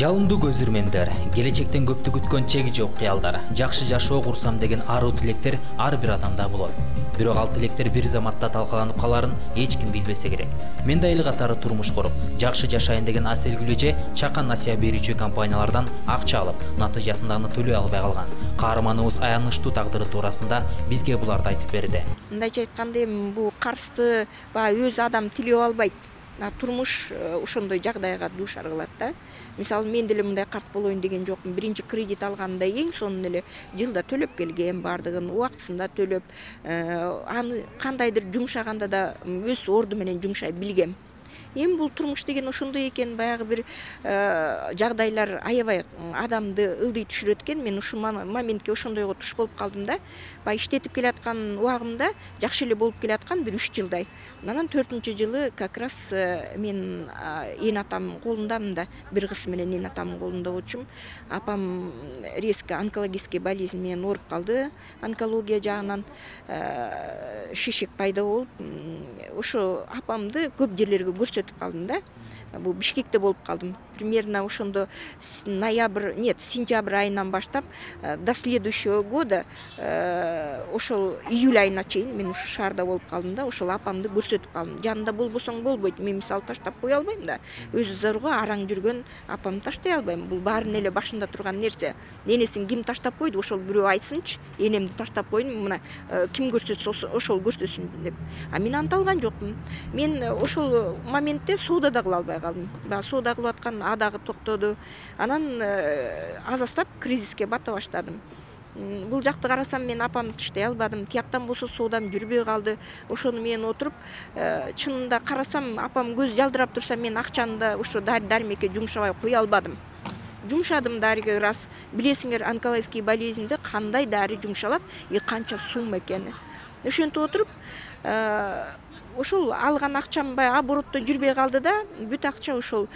Жалындуу көзүрмөндөр, келечектен көптү күткөн чеги жок кыялдар, жакшы жашоо курсам деген аруу тилектер ар бир адамда болот. Бирок ал тилектер бир заматта талкаланып каларын эч ким билбесе керек. Мен да эл катары турмуш куруп, жакшы жашайын деген аселгүл эже чакан насыя берүүчү компаниялардан акча алып, натыйжасында аны төлөй албай калган. Каарманыбыз аянычтуу тагдыры туурасында бизге буларды айтып берди. Мындайча айтканда бул карызды өз адам тилеп албайт. Турмуш ошондой жагдайга дуушар кылат да. Мисалы мен деле мындай карт болоюн деген жокмун. Биринчи кредит алганда эң сонун эле жылда төлөп келгем, бардыгын убактысында төлөп, аны кандайдыр жумшаганда да өз орду менен жумшай билгем. Эми бул турмуш деген ошондой экен, баягы бир жагдайлар аябай адамды ылдый түшүрөт экен. Мен ушул моментке ошондойго туш болуп калдым да. Баягы иштетип келаткан убагымда жакшы эле болуп келаткан бир 3 жылдай. Анан 4-жылы как раз мен эн атамдын колундамын да, бир кыз менен эн атамдын колунда болчумун. Апам резко онкологический болезнь менен ооруп калды. Онкология жагынан шишек пайда болуп, ошо апамды көп жерлерге көрсөтүп калдым да. Бул Бишкекте болуп калдым. Примерно ошондо сентябрь айынан баштап до следующего года ошол июль айына чейин мен ушу шаарда болуп калдым да. Ошол апамды көрсөтүп калдым. Жанында болбосоң болбойт. Мен мисалы таштап кое албайм да. Өзү зорго араң жүргөн апамды таштай албайм. Бул баарынын эле башында турган нерсе. Энесин ким таштап койду? Ошол бирөө айтсынчы. Энемди таштап койдум. Мына ким көрсөтсө ошол көрсөтсүн деп. Мен антып алган жокмун. Мен ошол моментте соода кыла албай калдым. Баягы соода кылып аткан дагы токтоду. Анан азастап кризиске бата баштадым. Бул жакты карасам мен апамды тыштай албадым. Тияктан болсо соодам жүрбөй калды. Ошону мен отуруп, чынында карасам апам көз жалдырап турса мен акчаны да ошо дармекке жумшабай кое албадым. Жумшадым дарыга раз. Билесиңер, онкологический болезньде кандай дары жумшалат и канча сумма экени. Ошентип отуруп, ошол алган акчам оборотто жүрбөй калды да, бүт акча ошол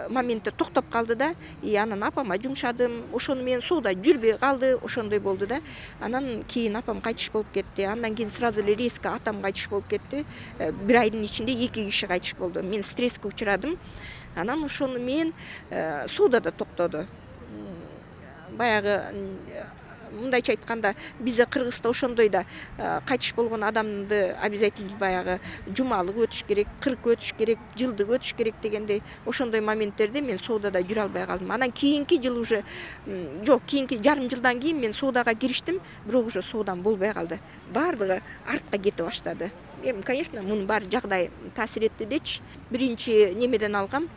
моментте токтоп калды да. Анан апама жумшадым, ошону менен соода жүрбөй калды, ошондой болду да. Анан кийин апам кайтыш болуп кетти. Андан кийин сразу эле резко атам кайтыш болуп кетти. Бир айдын ичинде 2 киши кайтыш болду. Мен стресске учурадым. Анан ошону менен соода да токтоду. Баягы мындайча айтканда бизде Кыргызда ошондой да кайтыш болгон адамды обязательно баягы жумалык өтүш керек, 40 өтүш керек, жылдык өтүш керек дегендей ошондой моменттерде мен соодада жүрө албай калдым. Анан кийинки жыл уже кийинки жарым жылдан кийин мен соодага кириштим, бирок уже соодам болбой калды. Бардыгы артка кете баштады. Эми, конечно, мунун баары жагдай таасир этти дечи. Биринчи немеден алгам,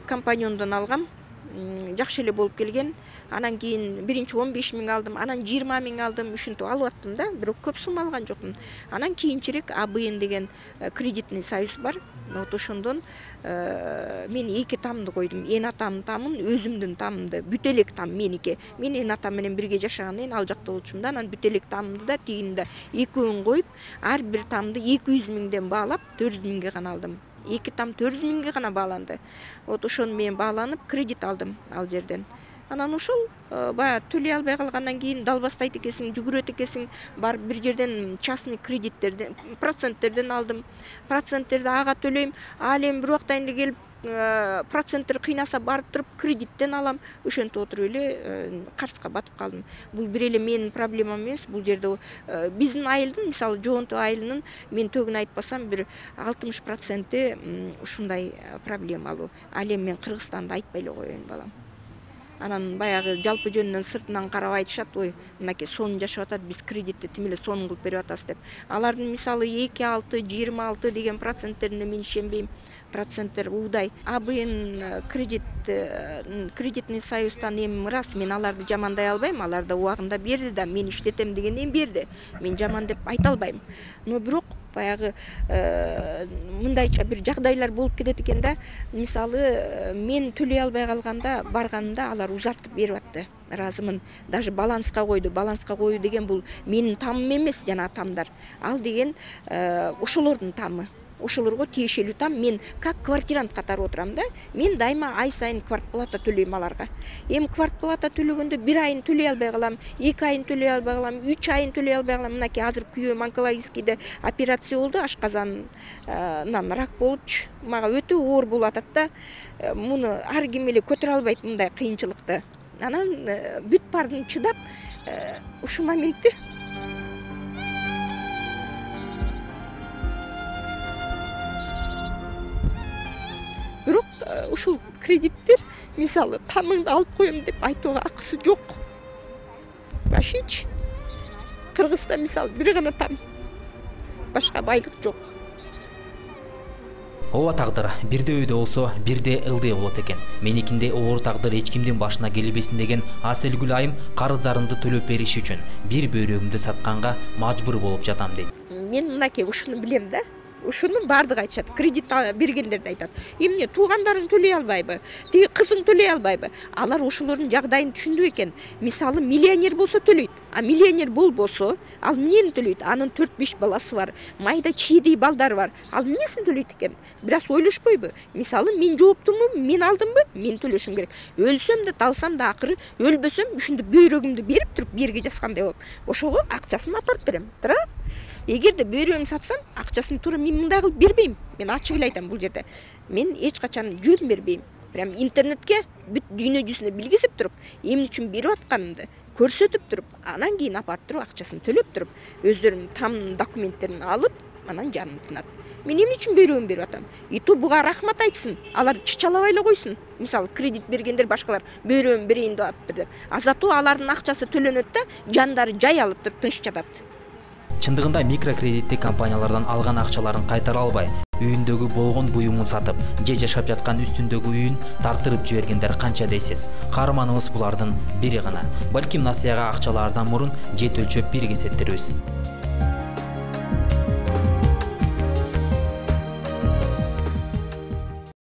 компаньондон алгам. Жакшы эле болуп келген. Анан кийин биринчи 15 000 алдым, анан 20 000 алдым, ушинтип алып аттым да, бирок көп сумма алган жокмун. Анан кийинчерээк АБН деген кредитный союз бар. Вот ошондон мен 2 тамды койдум. Эн атамдын тамын, өзүмдүн тамымды, бүт элек там меники. Мен эн атам менен бирге жашагандан кийин ал жакта болчумун да, анан бүт элек тамымды да тигини да экөөнүн коюп, ар бир тамды 200 000ден баалап 400 000ге гана алдым. 2 там 400 000ге гана бааланды. Вот ошону мен бааланып кредит алдым ал жерден. Анан ошол баягы төлөй албай калгандан кийин далбастайт экенсиң, жүгүрөт экенсиң, барып бир жерден частный кредиттерден, проценттерден алдым. Проценттерди ага төлөйм. Ал эми бир убактан эле келип проценттер кыйнаса барып туруп кредиттен алам. Ошентип отуруп эле карызга батып калдым. Бул бир эле менин проблемам эмес. Бул жерде биздин айылдын, мисалы Жоонту айылынын мен төгүн айтпасам бир 60% ушундай проблемалуу. Ал эми мен Кыргызстанды айтпай эле коеюн балам. Анан баягы жалпы жөнүнөн сыртынан карап айтышат, ой, мынакей сонун жашап атат, биз кредитти тим эле сонун кылып берип атабыз деп. Алардын мисалы 2,6, 26 деген проценттерине мен ишенбейм. Проценттер уудай. АБН кредитный союздан эми раз, мен аларды жамандай албайм, алар да убагында берди да, мен иштетем дегенден берди. Мен жаман деп айта албайм. Но бирок баягы мындайча бир жагдайлар болуп кетет экен да. Мисалы мен төлөй албай калганда барганымда алар узартып берип атты. Ыраазымын. Даже баланска койду. Баланска коюу деген бул менин тамым эмес, жана тамдар. Ал деген ошолордун тамы. ошолорго тиешелүү там. Мен как квартирант катары отурам да. Мен дайыма ай сайын квартплата төлөйм аларга. Эми квартплата төлөгөндө 1 айын төлөй албай калам, 2 айын төлөй албай калам, 3 айын төлөй албай калам. Мынакей азыр күйөөм онкологическийде операция болду, ашказанынан рак болупчу. Мага өтө оор болуп атат да. Муну ар ким эле көтөрө албайт мындай кыйынчылыкты. Анан бүт бардын чыдап ушул моментте бирок ушул кредиттер мисалы тамыңды алып коем деп айтууга акысы жок. Башич Кыргызда мисалы бир гана там, башка байлык жок. Ооба тагдыр бирде өйдө болсо бирде ылдый болот экен. Меникинде оор тагдыр эч кимдин башына келбесин деген Аселгүл айым карыздарымды төлөп бериш үчүн бир бөйрөгүмдү сатканга мажбур болуп жатам дейт. Мен мынакей ушуну билем да. Ушуну бардыгы айтышат. Кредит бергендер да айтат. Эмне туугандарың төлөй албайбы? Тиги кызың төлөй албайбы? Алар ошолордун жагдайын түшүндү экен. Мисалы миллионер болсо төлөйт. А миллионер болбосо, ал эмнени төлөйт? Анын 4-5 баласы бар. Майда чийди балдары бар. Ал эмнесин төлөйт экен? Бираз ойлошпойбу? Мисалы мен жооптумун, мен алдымбы? Мен төлөшүм керек. Өлсөм да, талсам да акыры өлбөсөм ушунду бөйрөгүмдү берип туруп бирге жазгандай болуп, ошого акчасын апарып берем. Туура? Эгерде бөйрөгүмдү сатсам, акчасын туура мен мындай кылып бербейм. Мен ачык эле айтам бул жерде. Мен эч качан жөн бербейм. Прям интернетке бүт дүйнө жүзүнө билгизип туруп, эмне үчүн берип атканымды көрсөтүп туруп, анан кийин апарып туруп акчасын төлөп туруп, өздөрүнүн там документтерин алып, анан жаным тынат. Мен эмне үчүн бөйрөгүмдү берип атам? Иту буга рахмат айтсын. Алар чычалабай эле койсун. Мисалы кредит бергендер башкалар бөйрөгүмдү берейин деп атыптыр деп. Азатуу алардын акчасы төлөнөт да, жандары жай алып туруп тынч жатат. Чындыгында микрокредиттик компаниялардан алган акчаларын кайтара албай, үйүндөгү болгон буюмун сатып, же жашап жаткан үстүндөгү үйүн тартырып жибергендер канча дейсиз? Каарманыбыз булардын бири гана. Балким насыяга акчалардан мурун жет өлчөп бир кесеттербиз.